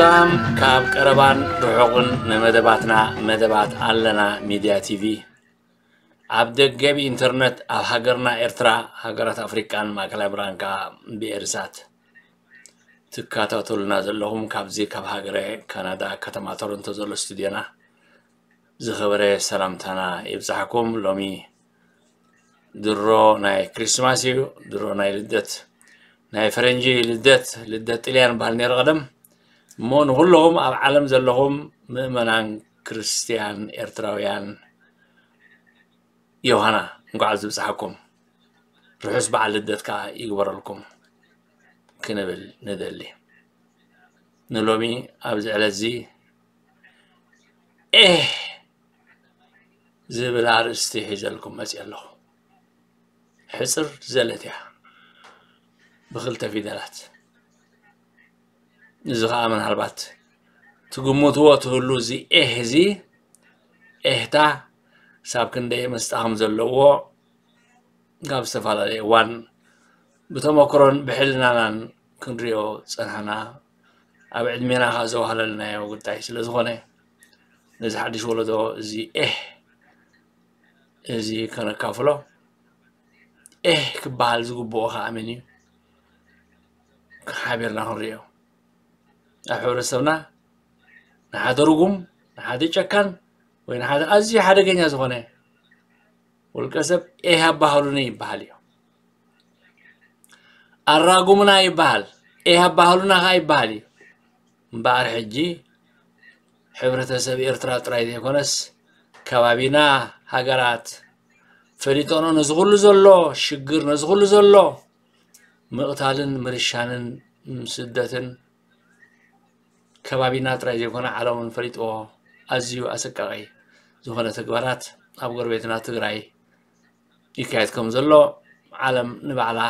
ሰላም ካብ ቀረባን ርሑቕን ንመደባትና፣ መደባት ኣለና ሚድያ ቲቪ። ኣብ ደገ ብኢንተርነት፣ ኣብ ሃገርና ኤርትራ፣ ሃገራት ኣፍሪቃን ማእከላይ ምብራቕን ከኣ ብኤሪሳት ትከታተሉና ዘለኹም፣ ካብዚ ካብ ሃገረ ካናዳ ከተማ ቶሮንቶ ዘሎ ስቱድዮና ዝኸበረ ሰላምታና ይብጻሕኩም። ሎሚ ድሮ ናይ ክሪስማስ እዩ፣ ድሮ ናይ ልደት፣ ናይ ፈረንጂ ልደት፣ ልደት ጥልያን በሃል ነይሩ ቀደም። እሞ ንኹለኹም ኣብ ዓለም ዘለኹም ምእመናን ክርስትያን ኤርትራውያን ዮሃና እንኳዕ ኣብዚ ብጽሓኩም። ርሑስ በዓል ልደት ከኣ ይግበረልኩም ክንብል ንደሊ። ንሎሚ ኣብዚ ዕለት እዚ ኤህ ዝብል ኣርእስቲ ሒዘልኩም መጽየ ኣለኹ። ሕጽር ዘለት እያ፣ ብኽልተ ፊደላት። እዚ ኸኣ ምናልባት ትግምትዎ ትህሉ፣ እዚ ኤህ እዚ፣ ኤህታ ክሳብ ክንደይ መስጣ ከም ዘለዎ ካብ ዝተፈላለየ እዋን ብተመክሮን ብሕልናናን ክንሪኦ ጸናሕና። ኣብ ዕድሜና ኸኣ ዘዋህለልናዮ ጉዳይ ስለ ዝኾነ፣ ነዚ ሓድሽ ወለዶ እዚ ኤህ እዚ ከነካፍሎ፣ ኤህ ክበሃል ዝግብኦ ኸኣ መን እዩ? ሓቢርና ክንሪኦ። ኣብ ሕብረተሰብና ንሓደ ርጉም፣ ንሓደ ጨካን፣ ወይ ንሓደ ኣዝዩ ሓደገኛ ዝኾነ ውልቀ ሰብ ኤህ ኣባህሉኒ ይበሃል እዩ። ኣራጉምና ይበሃል፣ ኤህ ኣባህሉና ኸኣ ይበሃል እዩ። እምበኣር ሕጂ ሕብረተሰብ ኤርትራ ጥራይ ዘይኮነስ፣ ከባቢና፣ ሃገራት ፈሊጦኖ ነዚ ኩሉ ዘሎ ሽግር፣ ነዚ ኩሉ ዘሎ ምቕታልን ምርሻንን ስደትን ከባቢና ጥራይ ዘይኮነ ዓለም እውን ፈሊጥዎ ኣዝዩ ኣሰቃቒ ዝኾነ ተግባራት ኣብ ጎረቤትና ትግራይ ይካየድ ከም ዘሎ ዓለም ንባዕላ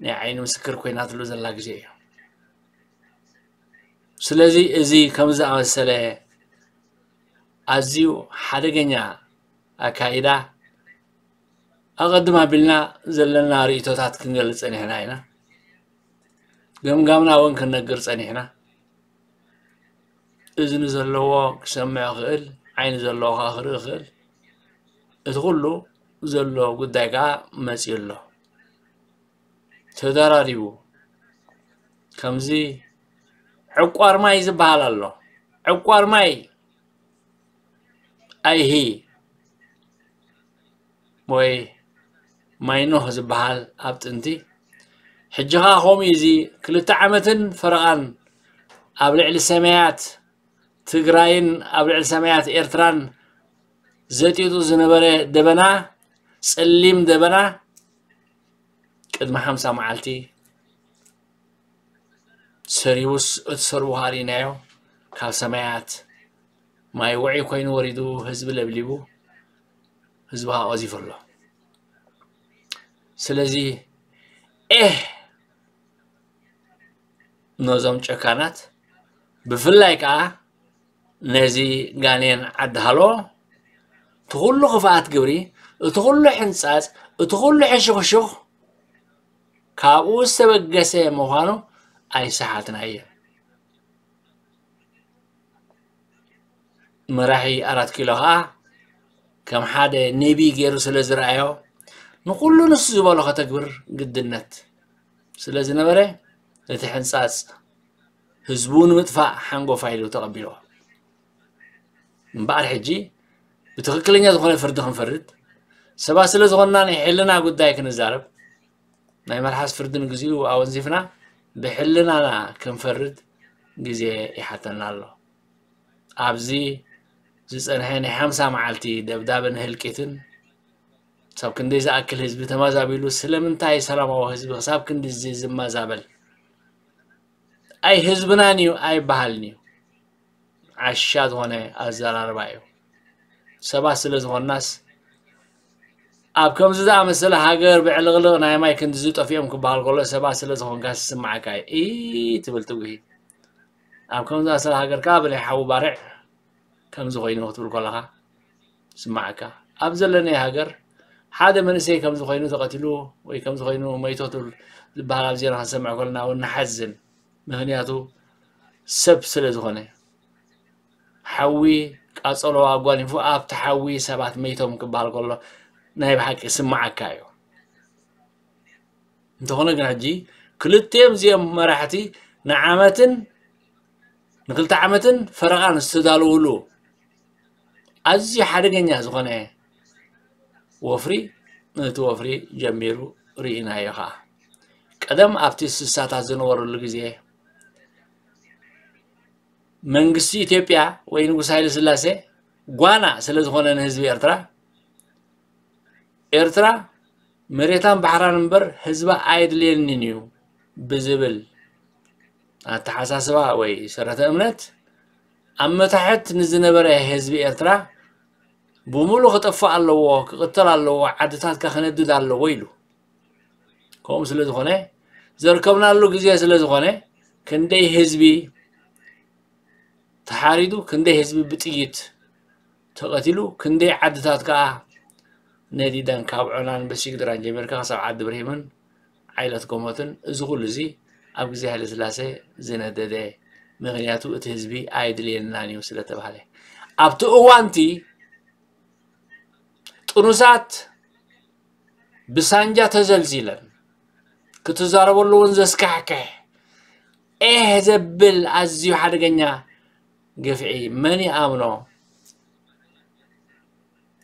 ናይ ዓይኒ ምስክር ኮይናትሉ ዘላ ግዜ እዩ። ስለዚ እዚ ከምዚ ዝኣመሰለ ኣዝዩ ሓደገኛ ኣካይዳ ኣቐድም ኣቢልና ዘለና ርእይቶታት ክንገልጽ ጸኒሕና ኢና። ገምጋምና እውን ክንነግር ጸኒሕና። እዝኒ ዘለዎ ክሰምዕ ይኽእል፣ ዓይኒ ዘለዎ ከኣ ክርኢ ይኽእል። እቲ ኩሉ ዘሎ ጉዳይ ከኣ መጺኡ ኣሎ። ተደራሪቡ ከምዚ ዕቋር ማይ ዝበሃል ኣሎ። ዕቋር ማይ ኣይሂ ወይ ማይ ኖህ ዝበሃል ኣብ ጥንቲ፣ ሕጂ ኸኣ ከምኡ እዩ። እዚ ክልተ ዓመትን ፈረቓን ኣብ ልዕሊ ሰማያት ትግራይን ኣብ ልዕሊ ሰማያት ኤርትራን ዘጢጡ ዝነበረ ደበና፣ ጸሊም ደበና፣ ቅድሚ ሓምሳ መዓልቲ ሰሪቡስ፣ እቲ ሰርቡ ኸኣ ርኢናዮ። ካብ ሰማያት ማይ ውዑይ ኮይኑ ወሪዱ፣ ህዝቢ ለብሊቡ፣ ህዝቢ ኸኣ ቀዚፉ ኣሎ። ስለዚ ኤህ ነዞም ጨካናት፣ ብፍላይ ከኣ ነዚ ጋኔን ዓዲ ሃሎ፣ እቲ ኩሉ ክፍኣት ግብሪ፣ እቲ ኩሉ ሕንጻጽ፣ እቲ ኩሉ ሕሹኽሹኽ ካብኡ ዝተበገሰ ምዃኑ ኣይሰሓትናዮን። መራሒ ኣራት ኪሎ ኸኣ ከም ሓደ ነቢ ገይሩ ስለ ዝረኣዮ፣ ንኹሉ ንሱ ዝበሎ ከተግብር ግድነት ስለ ዝነበረ፣ ነቲ ሕንጻጽ ህዝቡ ንምጥፋእ ሓንጎፋይ ኢሉ ተቐቢልዎ። እምበኣር ሕጂ ብትኽክለኛ ዝኾነ ፍርዲ ክንፈርድ፣ ሰባት ስለ ዝኾንና ናይ ሕልና ጉዳይ ክንዛረብ፣ ናይ መልሓስ ፍርዲ ንግዚኡ ኣወንዚፍና ብሕልናና ክንፈርድ ግዜ ይሓተና ኣሎ። ኣብዚ ዝጸንሐ ናይ ሓምሳ መዓልቲ ደብዳብን ህልቂትን፣ ክሳብ ክንደይ ዝኣክል ህዝቢ ተማዛቢሉ፣ ስለምንታይ ሰላማዊ ህዝቢ ክሳብ ክንድዚ ዝመዛበል? ኣይ ህዝብናን እዩ ኣይበሃልን እዩ። ዓሻ ዝኾነ ኣዘራርባ እዩ። ሰባት ስለ ዝኾንናስ፣ ኣብ ከምዚ ዝኣመሰለ ሃገር ብዕልቕልቕ ናይ ማይ ክንድዚ ጠፊኦም ክበሃል ከሎ፣ ሰባት ስለ ዝኾንካስ ዝስምዓካ እዩ። እይ ትብል ትጉሂ። ኣብ ከምዚ ዝኣመሰለ ሃገር ከኣ ብናይ ሓዊ ባርዕ ከምዚ ኮይኑ ክትብል ከለኻ ዝስምዓካ። ኣብ ዘለናዮ ሃገር ሓደ መንእሰይ ከምዚ ኮይኑ ተቐቲሉ ወይ ከምዚ ኮይኑ መይቱ ትብል ዝበሃል ኣብ ዜና ክንሰምዕ ከለና እውን ንሓዝን። ምኽንያቱ ሰብ ስለ ዝኾነ፣ ሓዊ ቃጸሎ ኣጓኒፉ ኣብቲ ሓዊ ሰባት መይቶም ክበሃል ከሎ ናይ ብሓቂ ስምዓካ እዩ። እንተኾነ ግን ሕጂ ክልቲኦም እዚኦም መራሕቲ ንዓመትን ንክልተ ዓመትን ፈረቓን ዝተዳለውሉ ኣዝዩ ሓደገኛ ዝኾነ ወፍሪ፣ ነቲ ወፍሪ ጀሚሩ ርኢናዮ ኸዓ። ቀደም ኣብቲ ስሳታት ዝነበረሉ ግዜ መንግስቲ ኢትዮጵያ ወይ ንጉስ ሃይለ ስላሴ ጓና ስለ ዝኾነ ንህዝቢ ኤርትራ፣ ኤርትራ መሬታን ባሕራን እምበር ህዝባ ኣየድልየንን እዩ ብዝብል ኣተሓሳስባ ወይ ሰረተ እምነት ኣብ መታሕት ንዝነበረ ህዝቢ ኤርትራ ብምሉእ ክጠፍእ ኣለዎ፣ ክቕተል ኣለዎ፣ ዓድታትካ ክነድድ ኣለዎ ኢሉ። ከምኡ ስለ ዝኾነ ዘርከብናሉ ግዜ ስለ ዝኾነ ክንደይ ህዝቢ ተሓሪዱ፣ ክንደይ ህዝቢ ብጥይት ተቐቲሉ፣ ክንደይ ዓድታት ከኣ ነዲደን ካብ ዖናን በሲግድራን ጀሚርካ ክሳብ ዓዲ ብርሂምን ዓይለት ጎሞትን እዚ ኩሉ እዚ ኣብ ግዜ ሃይለ ስላሴ ዝነደደ ምኽንያቱ እቲ ህዝቢ ኣይድልየናን እዩ ስለ ተባሃለ ኣብቲ እዋንቲ ጥኑሳት ብሳንጃ ተዘልዚለን ክትዛረበሉ እውን ዘስካሕክሕ ኤህ ዘብል ኣዝዩ ሓደገኛ ግፍዒ መን ይኣምኖ?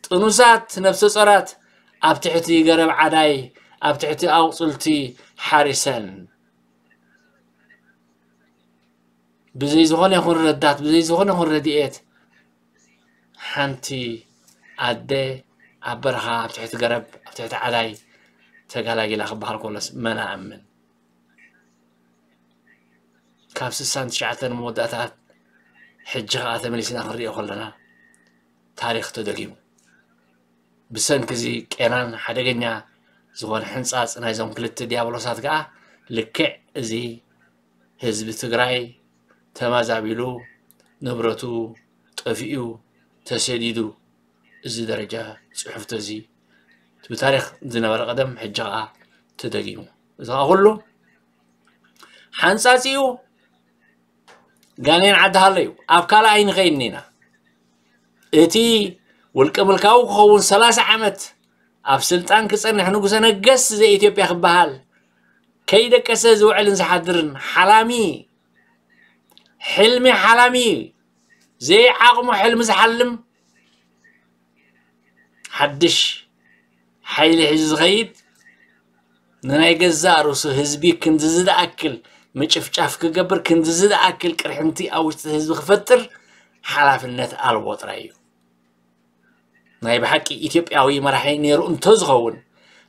ጥኑሳት ነፍሰ ጾራት ኣብ ትሕቲ ገረብ ዓዳይ ኣብ ትሕቲ ኣቑጽልቲ ሓሪሰን ብዘይ ዝኾነ ይኹን ረዳት ብዘይ ዝኾነ ይኹን ረድኤት ሓንቲ ኣደ ኣብ በረኻ ኣብ ትሕቲ ገረብ ኣብ ትሕቲ ዓዳይ ተጋላጊላ ክበሃል ከሎስ መን ኣምን? ካብ ስሳን ትሽዓተን መወዳእታት ሕጂ ኸዓ ተመሊስና ክንሪኦ ከለና ታሪኽ ተደጊሙ። ብሰንኪ እዚ ቄናን ሓደገኛ ዝኾነ ሕንጻጽ ናይዞም ክልተ ዲያብሎሳት ከኣ ልክዕ እዚ ህዝቢ ትግራይ ተመዛቢሉ ንብረቱ ጠፊኡ ተሰዲዱ እዚ ደረጃ ጽሑፍቶ እዚ ብታሪኽ ዝነበረ ቀደም ሕጂ ኸዓ ተደጊሙ። እዚ ኸዓ ኩሉ ሓንጻጺኡ ጋኔን ዓዲ ሃሎ እዩ። ኣብ ካልእ ኣይንኸይድን ኢና። እቲ ውልቀ ምልካዊ ክኸውን ሰላሳ ዓመት ኣብ ስልጣን ክጸንሕ ንጉሰ ነገስት ዘኢትዮጵያ ክበሃል ከይደቀሰ ዝውዕልን ዝሓድርን ሓላሚ ሕልሚ ሓላሚ ዘይዓቕሙ ሕልሚ ዝሓልም ሓድሽ ሓይሊ ሒዙ ዝኸይድ ንናይ ገዛእ ርእሱ ህዝቢ ክንድዚ ዝኣክል ምጭፍጫፍ ክገብር ክንድዚ ዝኣክል ቅርሕንቲ ኣብ ውሽጢ ህዝቢ ክፈጥር ሓላፍነት ኣልቦ ጥራይ እዩ። ናይ ብሓቂ ኢትዮጵያዊ መራሒ ነይሩ እንተዝኸውን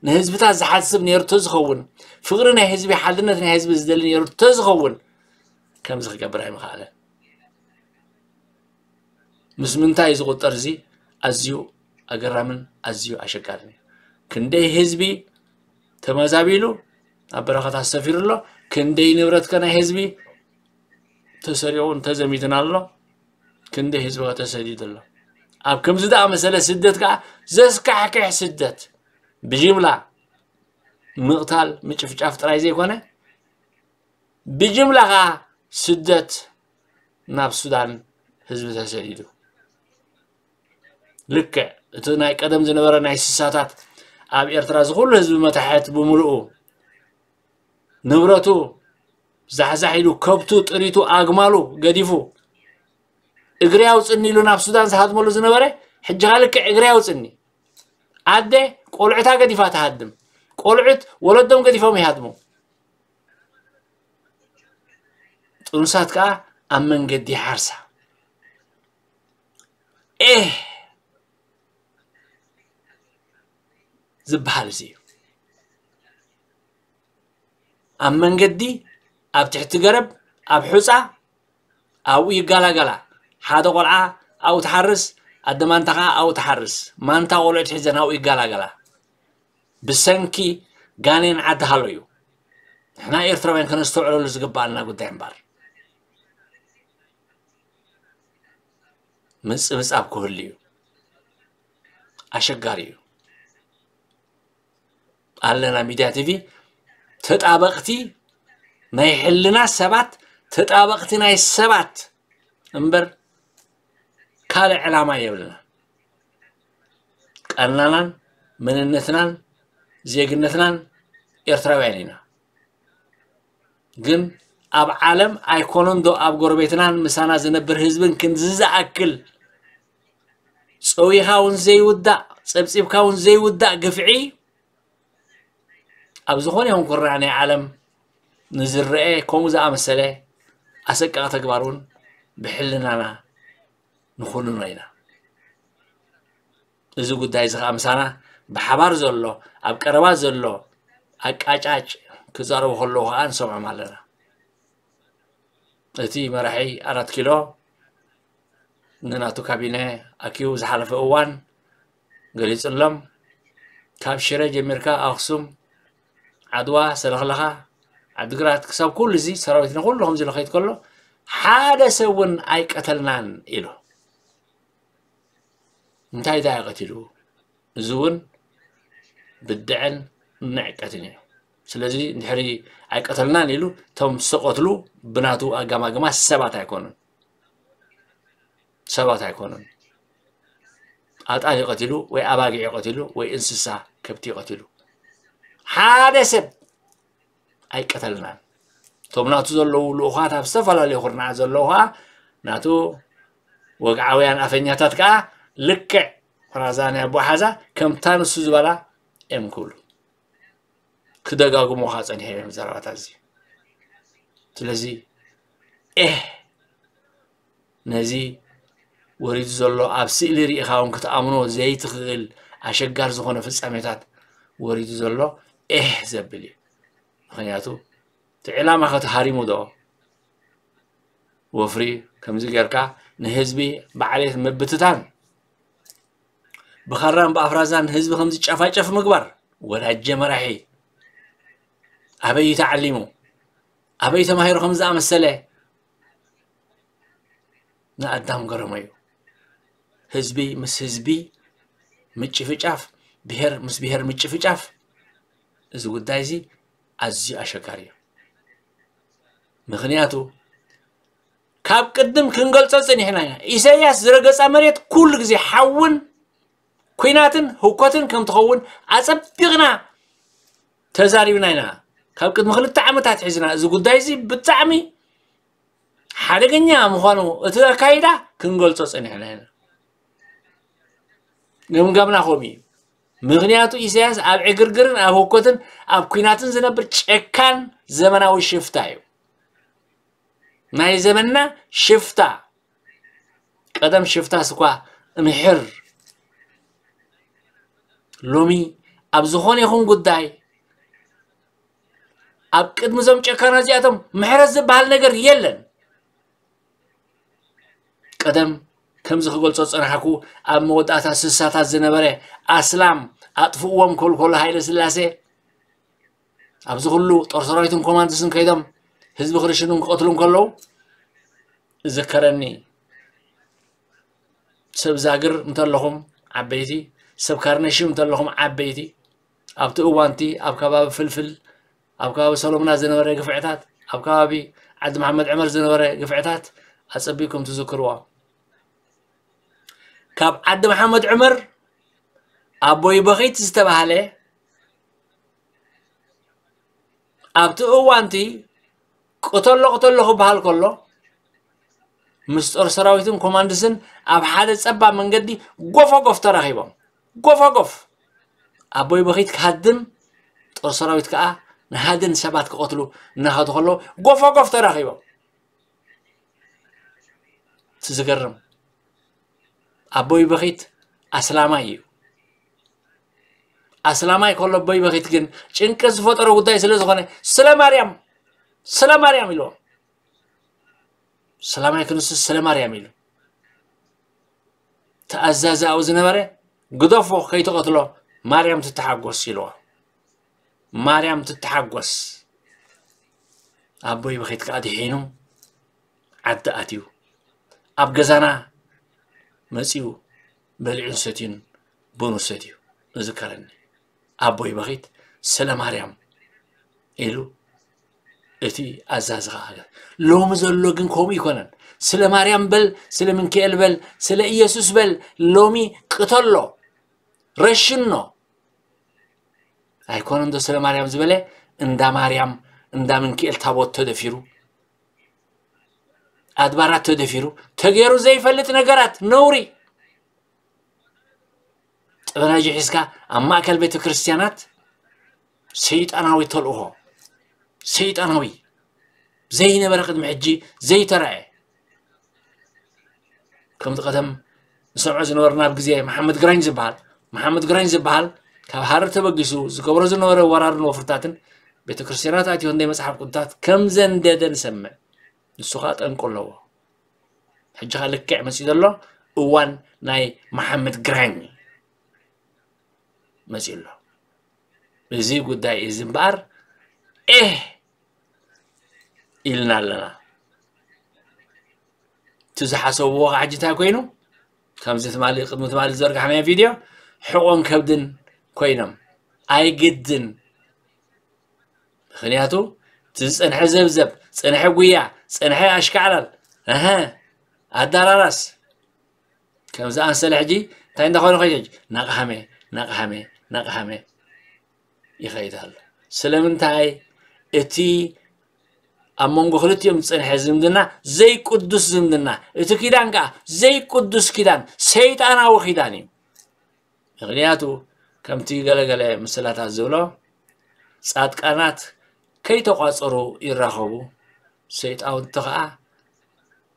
ንህዝብታት ዝሓስብ ነይሩ እንተዝኸውን ፍቕሪ ናይ ህዝቢ ሓድነት ናይ ህዝቢ ዝደሊ ነይሩ እንተዝኸውን ከምዚ ክገብር ኣይምኸኣለን። ምስ ምንታይ ዝቑጠር እዚ ኣዝዩ ኣገራምን ኣዝዩ ኣሸጋርን እዩ። ክንደይ ህዝቢ ተመዛቢሉ ኣብ በረኻታት ሰፊሩ ኣሎ። ክንደይ ንብረትከ ናይ ህዝቢ ተሰሪቑን ተዘሚትን ኣሎ። ክንደይ ህዝቢ ተሰዲዱ ኣሎ። ኣብ ከምዚ ደኣ መሰለ ስደት ከኣ ዘስካሕክሕ ስደት ብጅምላ ምቕታል ምጭፍጫፍ ጥራይ ዘይኮነ ብጅምላ ከኣ ስደት ናብ ሱዳን ህዝቢ ተሰዲዱ። ልክዕ እቲ ናይ ቀደም ዝነበረ ናይ ስሳታት ኣብ ኤርትራ ዝኹሉ ህዝቢ መታሕት ብምልኡ ንብረቱ ዛሕዛሕ ኢሉ ከብቱ ጥሪቱ ኣግማሉ ገዲፉ እግሪ ኣውፅኒ ኢሉ ናብ ሱዳን ዝሃድመሉ ዝነበረ ሕጂ ኸዓ ልክዕ እግሪ ኣውፅኒ ኣደ ቆልዑታ ገዲፋ ትሃድም ቆልዑት ወለዶም ገዲፎም ይሃድሙ ጥኑሳት ከዓ ኣብ መንገዲ ሓርሳ ኤህ ዝበሃል እዚ እዩ ኣብ መንገዲ ኣብ ትሕቲ ገረብ ኣብ ሑፃ ኣብኡ ይጋላገላ ሓደ ቆልዓ ኣብኡ ትሓርስ ኣደ ማንታ ከዓ ኣብኡ ትሓርስ ማንታ ቆልዑት ሒዘን ኣብኡ ይጋላገላ ብሰንኪ ጋኔን ዓዲ ሃሎ እዩ ንሕና ኤርትራውያን ከነስተውዕለሉ ዝግበኣና ጉዳይ እምበር ምፅብፃብ ክህሉ እዩ ኣሸጋሪ እዩ ኣለና ሚድያ ቲቪ ተጣበቕቲ ናይ ሕልና ሰባት ተጣበቕቲ ናይ ሰባት እምበር ካልእ ዕላማ የብልና። ቃልናናን መንነትናን ዜግነትናን ኤርትራውያን ኢና። ግን ኣብ ዓለም ኣይኮነን ዶ ኣብ ጎረቤትናን ምሳና ዝነብር ህዝብን ክንዚ ዝኣክል ጸዊኻ እውን ዘይውዳእ፣ ጸብጺብካ እውን ዘይውዳእ ግፍዒ ኣብ ዝኾነ ይኹን ኩርናዕ ናይ ዓለም ንዝረአ ከምኡ ዝኣመሰለ ኣሰቃቂ ተግባር እውን ብሕልናና ንኹንኖ ኢና። እዚ ጉዳይ እዚ ከዓ ምሳና ብሓባር ዘሎ፣ ኣብ ቀረባ ዘሎ ኣቃጫጭ ክዛረቡ ከለዉ ከዓ ንሰምዖም ኣለና። እቲ መራሒ ኣራት ኪሎ ንናቱ ካቢነ ኣኪቡ ዝሓለፈ እዋን ገሊጹሎም። ካብ ሽረ ጀሚርካ ኣኽሱም፣ ዓድዋ፣ ሰለኽለኻ፣ ዓድግራት ክሳብ ኩሉ እዚ ሰራዊትና ኩሉ ከምዚ ኢሉ ከይድ ከሎ ሓደ ሰብ እውን ኣይቀተልናን ኢሉ። እንታይ እንታይ ቀቲሉ? እዚ እውን ብድዐን ንዕቀትን እዩ። ስለዚ እንድሕሪ ኣይቀተልናን ኢሉ እቶም ዝተቐትሉ ብናቱ ኣጋማግማ ሰባት ኣይኮኑን። ሰባት ኣይኮኑን። ኣጣል ይቐትሉ ወይ ኣባጊዕ ይቐትሉ ወይ እንስሳ ከብቲ ይቐትሉ። ሓደ ሰብ ኣይቀተልናን። እቶም ናቱ ዘለዉ ልኡኻት ኣብ ዝተፈላለዩ ኩርናዓት ዘለዉ ከዓ ናቱ ወግዓውያን ኣፈኛታት ከዓ ልክዕ ራዛ ናይ ኣቦሓዛ ከምታ ንሱ ዝበላ እዮም ክብሉ ክደጋግሙ ከዓ ጸኒሖም እዮም ዘረባታት እዚ። ስለዚ ኤህ ነዚ ወሪዱ ዘሎ ኣብ ስእሊ ርኢኻ እውን ክትኣምኖ ዘይትኽእል ኣሸጋር ዝኾነ ፍጻሜታት ወሪዱ ዘሎ ኤህ ዘብል እዩ። ምኽንያቱ እቲ ዕላማ ከተሃሪሙ ዶ ወፍሪ ከምዚ ጌርካ ንህዝቢ ብዓሌት ምብትታን ብኻራን ብኣፍራዛን ህዝቢ ከምዚ ጨፋጨፍ ምግባር ወዳጀ መራሒ ኣበይ ተዓሊሙ ኣበይ ተማሂሩ ከም ዝኣመሰለ ንኣዳም ገረሞ እዩ። ህዝቢ ምስ ህዝቢ ምጭፍጫፍ፣ ብሄር ምስ ብሄር ምጭፍጫፍ፣ እዚ ጉዳይ እዚ ኣዝዩ ኣሸጋሪ እዩ። ምኽንያቱ ካብ ቅድም ክንገልጾ ጸኒሕና ኢና። ኢሳያስ ዝረገጻ መሬት ኩሉ ግዜ ሓውን ኲናትን ህውከትን ከም ትኸውን ኣጸቢቕና ተዛሪብና ኢና። ካብ ቅድሚ ክልተ ዓመታት ሒዝና እዚ ጉዳይ እዚ ብጣዕሚ ሓደገኛ ምዃኑ እቲ ኣካይዳ ክንገልጾ ጸኒሕና ኢና። ገምጋምና ከምኡ እዩ። ምኽንያቱ ኢሳያስ ኣብ ዕግርግርን ኣብ ህውከትን ኣብ ኲናትን ዝነብር ጨካን ዘመናዊ ሽፍታ እዩ። ናይ ዘመንና ሽፍታ። ቀደም ሽፍታስ እኳ እምሕር፣ ሎሚ ኣብ ዝኾነ ይኹን ጉዳይ ኣብ ቅድሚ እዞም ጨካና እዚኣቶም ምሕረት ዝበሃል ነገር የለን። ቀደም ከምዚ ክገልጾ ዝጸናሕኩ ኣብ መወዳእታ ስሳታት ዝነበረ ኣስላም ኣጥፍእዎም ክብል ከሎ ሃይለ ስላሴ ኣብዚ ኩሉ ጦር ሰራዊትን ኮማንድስን ከይዶም ህዝቢ ክርሽኑን ክቐትሉን ከለዉ እዝከረኒ። ሰብ ዛግር እንተለኹም ዓበይቲ፣ ሰብ ካርነሽም እንተለኹም ዓበይቲ፣ ኣብቲ እዋንቲ ኣብ ከባቢ ፍልፍል፣ ኣብ ከባቢ ሰሎምና ዝነበረ ግፍዕታት፣ ኣብ ከባቢ ዓዲ መሓመድ ዕመር ዝነበረ ግፍዕታት ኣጸቢቅኩም ትዝክርዎ። ካብ ዓዲ መሓመድ ዕመር ኣቦይ በኺት ዝተባህለ ኣብቲ እዋንቲ ቅተሎ ቅተሎ ክበሃል ከሎ ምስ ጦር ሰራዊትን ኮማንድስን ኣብ ሓደ ጸባብ መንገዲ ጎፈጎፍ ተራኺቦም። ጎፈጎፍ ኣቦይ በኺት ክሃድን ጦር ሰራዊት ከዓ ንሃድን ሰባት ክቐትሉ እናኸዱ ከለዉ ጎፈጎፍ ተራኺቦም። እቲ ዝገርም ኣቦይ በኺት ኣስላማይ እዩ። ኣስላማይ ከሎ ኣቦይ በኺት ግን ጭንቀት ዝፈጠሮ ጉዳይ ስለ ዝኾነ ስለ ማርያም ስለ ማርያም ኢልዎም። ሰላማይ ክንሱ ስለ ማርያም ኢሉ ተኣዛዚ ኣብኡ ዝነበረ ግደፎ ከይትቐትሎ ማርያም ትተሓጎስ ኢልዎ። ማርያም ትተሓጎስ። ኣቦይ በኺት ከዓ ድሒኑ ዓዲ ኣትዩ ኣብ ገዛና መፂኡ በሊዑን ሰትዩን ቡኑ ሰትዩ እዝከረኒ። ኣቦይ በኺት ስለ ማርያም ኢሉ እቲ ኣዛዚ ከኣ። ሎሚ ዘሎ ግን ከምኡ ይኮነን። ስለ ማርያም በል፣ ስለ ምንክኤል በል፣ ስለ ኢየሱስ በል፣ ሎሚ ቅተሎ፣ ረሽኖ። ኣይኮነን ዶ ስለ ማርያም ዝበለ? እንዳ ማርያም፣ እንዳ ምንክኤል ታቦት ተደፊሩ፣ ኣድባራት ተደፊሩ፣ ተገይሩ ዘይፈልጥ ነገራት፣ ነውሪ። ጠበናጂ ሒዝካ ኣብ ማእከል ቤተ ክርስቲያናት ሰይጣናዊ ተልእኾ፣ ሰይጣናዊ ዘይነበረ ቅድሚ ሕጂ ዘይተራእየ። ከምቲ ቀደም ንሰምዖ ዝነበርና ኣብ ግዜ መሓመድ ግራኝ ዝበሃል፣ መሓመድ ግራኝ ዝበሃል ካብ ሃረር ተበጊሱ ዝገብሮ ዝነበረ ወራርን ወፍርታትን ቤተ ክርስቲያናት ኣትዮ እንደ መጽሓፍ ቅዱሳት ከም ዘንደደ ንሰምዕ። ንሱ ኸኣ ጠንቁ ኣለዎ። ሕጂ ኸኣ ልክዕ መጺኡ ዘሎ እዋን ናይ መሓመድ ግራኝ መጺኡ ኣሎ። እዚ ጉዳይ እዚ እምበኣር ኤህ ኢልና ኣለና። እቲ ዝሓሰብዎ ኸዓ ሕጂ እንታይ ኮይኑ? ከምዚ ትማሊ፣ ቅድሚ ትማሊ ዝዘርጋሕናዮ ቪድዮ፣ ሕቖን ከብድን ኮይኖም። ኣይግድን። ምኽንያቱ፣ እቲ ዝጸንሐ ዘብዘብ፣ ጸንሐ ጉያ፣ ጸንሐ ኣሽካዕላል፣ እሀ፣ ኣዳራራስ፣ ከምዚ ኣንሰለ ሕጂ እንታይ እንዳኾነ ኸይድ ሕጂ? ናቕሃመ፣ ናቕሃመ፣ ናቕሃመ ይኸይድ ኣሎ። ስለምንታይ? እቲ ኣብ መንጎ ክልቲኦም ዝጸንሐ ዝምድና ዘይቅዱስ ዝምድና፣ እቲ ኪዳን ከኣ ዘይቅዱስ ኪዳን፣ ሰይጣናዊ ኪዳን እዩ። ምኽንያቱ ከምቲ ገለገለ ምስላታት ዝብሎ፣ ጻድቃናት ከይተቋጸሩ ይራኸቡ፣ ሰይጣውንቲ ከኣ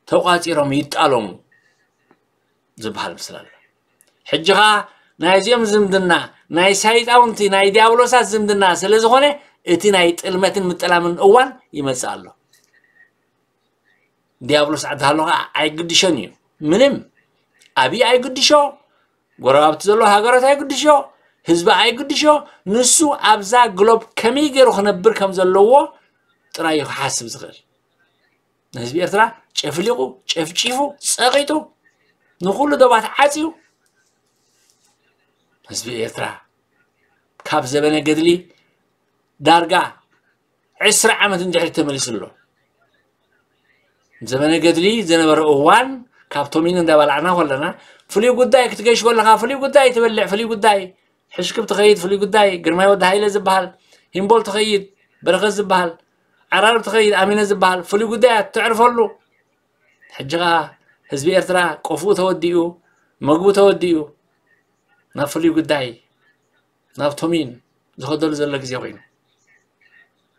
ተቋጺሮም ይጣለሙ ዝበሃል ምስላ ኣሎ። ሕጂ ኸኣ ናይዚኦም ዝምድና ናይ ሰይጣውንቲ ናይ ዲያብሎሳት ዝምድና ስለ ዝኾነ እቲ ናይ ጥልመትን ምጥላምን እዋን ይመጽእ ኣሎ። ዲያብሎስ ዓዲ ሃሎ ኸዓ ኣይግድሾን እዩ። ምንም ኣብይ ኣይግድሾ፣ ጎረባብቲ ዘሎ ሃገራት ኣይግድሾ፣ ህዝቢ ኣይግድሾ። ንሱ ኣብዛ ግሎብ ከመይ ገይሩ ክነብር ከም ዘለዎ ጥራይ እዩ ክሓስብ ዝኽእል። ንህዝቢ ኤርትራ ጨፍሊቑ፣ ጨፍጪፉ፣ ጸቒጡ፣ ንኹሉ ዶባት ዓጽዩ፣ ህዝቢ ኤርትራ ካብ ዘበነ ገድሊ ዳርጋ ዕስራ ዓመት እንድሕሪ ተመሊሱ ኣሎ። ዘበነ ገድሊ ዝነበረ እዋን ካብ ቶሚን እንዳበላዕና ከለና፣ ፍሉይ ጉዳይ ክትገሽ ከለኻ፣ ፍሉይ ጉዳይ ትበልዕ፣ ፍሉይ ጉዳይ ሕሽክብ ትኸይድ፣ ፍሉይ ጉዳይ ግርማይ ወዲ ሃይለ ዝበሃል፣ ሂምቦል ትኸይድ፣ በረኸት ዝበሃል፣ ዓራርብ ትኸይድ፣ ኣሚነ ዝበሃል፣ ፍሉይ ጉዳይ እያ ትዕርፈሉ። ሕጂ ኸኣ ህዝቢ ኤርትራ ቆፍኡ ተወዲኡ፣ መግቡ ተወዲኡ፣ ናብ ፍሉይ ጉዳይ፣ ናብ ቶሚን ዝኸደሉ ዘሎ ግዜ ኮይኑ፣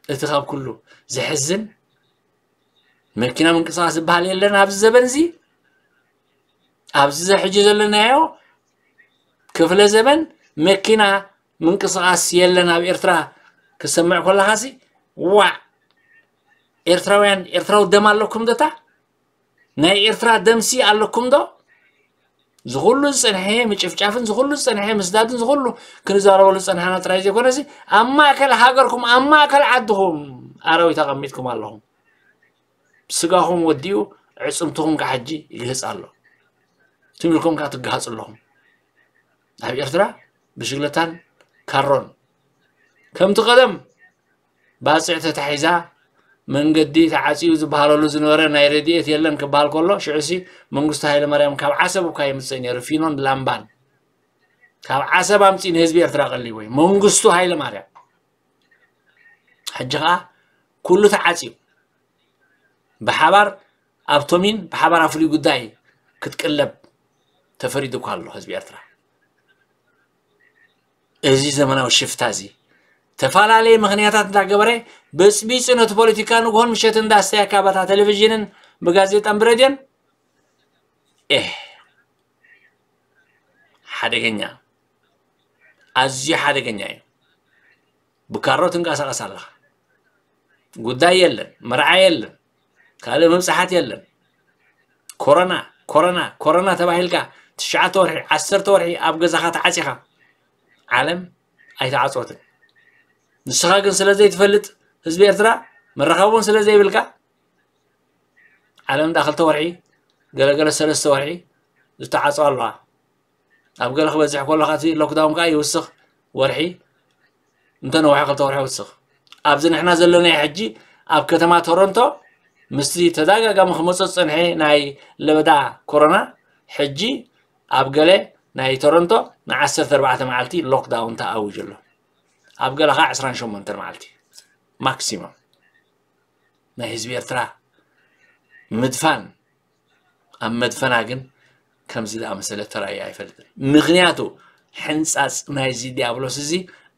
እቲ ካብ ኩሉ ዘሕዝን፣ መኪና ምንቅስቓስ ዝበሃል የለን ኣብዚ ዘበን እዚ። ኣብዚ ሕጂ ዘለናዮ ክፍለ ዘበን መኪና ምንቅስቓስ የለን ኣብ ኤርትራ ክሰምዕ ከለኻሲ፣ ዋዕ! ኤርትራውያን፣ ኤርትራዊ ደም ኣለኩም ዶ እታ? ናይ ኤርትራ ደምሲ ኣለኩም ዶ? ዝኹሉ ዝጸንሐ ምጭፍጫፍን ዝኹሉ ዝጸንሐ ምስዳድን ዝኹሉ ክንዛረበሉ ዝጸንሐና ጥራይ ዘይኮነሲ፣ ኣብ ማእከል ሃገርኩም፣ ኣብ ማእከል ዓድኹም ኣራዊት ኣቐሚጥኩም ኣለኹም። ስጋኹም ወዲኡ፣ ዕጽምትኹም ከኣ ሕጂ ይግህጽ ኣሎ። ትም ኢልኩም ከኣ ትገሃጹ ኣለኹም። ኣብ ኤርትራ ብሽግለታን ካሮን ከምቲ ቀደም ባጽዕ ተታሒዛ፣ መንገዲ ተዓጽዩ ዝበሃለሉ ዝነበረ ናይ ረድኤት የለን ክበሃል ከሎ፣ ሽዑሲ መንግስቱ ሃይለማርያም ካብ ዓሰብ እኳ የምጽእ ነይሩ፣ ፊኖን ላምባን። ካብ ዓሰብ ኣምጺኡ ንህዝቢ ኤርትራ ቀሊቡ እዩ። መንግስቱ ሃይለማርያም። ሕጂ ኸኣ ኩሉ ተዓጽዩ። ብሓባር ኣብ ቶሚን፣ ብሓባር ኣብ ፍሉይ ጉዳይ ክትቅለብ ተፈሪዱ እኳ ኣሎ ህዝቢ ኤርትራ። እዚ ዘመናዊ ሽፍታ እዚ፣ ተፈላለየ ምኽንያታት እንዳገበረ፣ በጽቢጹ ነቲ ፖለቲካ ንግሆን ምሸትን እንዳስተየ፣ ካባታ ቴሌቪዥንን ብጋዜጣን ብሬድዮን፣ ኤህ፣ ሓደገኛ፣ ኣዝዩ ሓደገኛ እዩ። ብካሮ ትንቀሳቐስ ኣለኻ። ጉዳይ የለን፣ መርዓ የለን፣ ካልእ ምብጻሓት የለን። ኮሮና፣ ኮሮና፣ ኮሮና ተባሂልካ ትሽዓተ ወርሒ፣ ዓሰርተ ወርሒ ኣብ ገዛኻ ተዓጺኻ፣ ዓለም ኣይተዓጽወትን። ንስኻ ግን ስለ ዘይትፈልጥ፣ ህዝቢ ኤርትራ መራኸቢ እውን ስለ ዘይብልካ፣ ዓለም እንዳ ክልተ ወርሒ፣ ገለገለ ሰለስተ ወርሒ ዝተዓጽዋ ኣለዋ። ኣብ ገለ ክበዝሕ ከሎ፣ እቲ ሎክዳውን ከኣ ይውስኽ፣ ወርሒ እንተ ነውሐ ክልተ ወርሒ ይውስኽ። ኣብዚ ንሕና ዘለናዮ ሕጂ ኣብ ከተማ ቶሮንቶ ምስቲ ተደጋጋሚ ክመጾ ዝጸንሐ ናይ ለበዳ ኮሮና፣ ሕጂ ኣብ ገለ ናይ ቶሮንቶ ን ዓሰርተ ኣርባዕተ መዓልቲ ሎክዳውን ተኣዊጁ ኣሎ። ኣብ ገለ ኸዓ ዕስራን ሸሞንተን መዓልቲ ማክሲመም። ናይ ህዝቢ ኤርትራ ምድፋን ኣብ መድፈና ግን ከምዚ ዝኣመሰለ ተራእዩ ኣይፈልጥን። ምኽንያቱ ሕንጻጽ ናይዚ ዲያብሎስ እዚ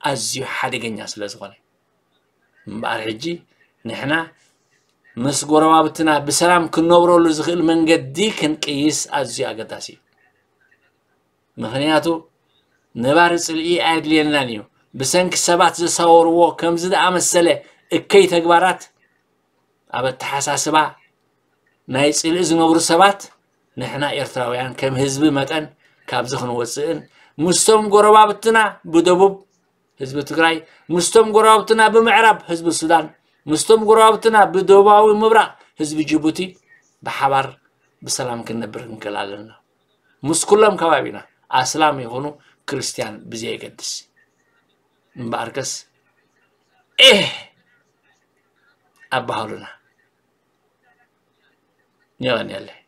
ኣዝዩ ሓደገኛ ስለ ዝኾነ። እምበኣር ሕጂ ንሕና ምስ ጎረባብትና ብሰላም ክንነብረሉ ዝኽእል መንገዲ ክንቅይስ ኣዝዩ ኣገዳሲ እዩ። ምኽንያቱ ነባሪ ጽልኢ ኣየድልየናን እዩ። ብሰንኪ ሰባት ዘሳወርዎ ከምዚ ዝኣመሰለ እከይ ተግባራት ኣብ ኣተሓሳስባ ናይ ጽልኢ ዝነብሩ ሰባት ንሕና ኤርትራውያን ከም ህዝቢ መጠን ካብዚ ክንወጽእን ምስቶም ጎረባብትና ብደቡብ ህዝቢ ትግራይ፣ ምስቶም ጎረባብትና ብምዕራብ ህዝቢ ሱዳን፣ ምስቶም ጎረባብትና ብደቡባዊ ምብራቕ ህዝቢ ጅቡቲ ብሓባር ብሰላም ክንነብር ክንክእል ኣለና። ምስ ኩሎም ከባቢና ኣስላም ይኹኑ ክርስትያን ብዘየገድስ። እምበኣርከስ ኤህ ኣባህሉና። የቐንየለይ።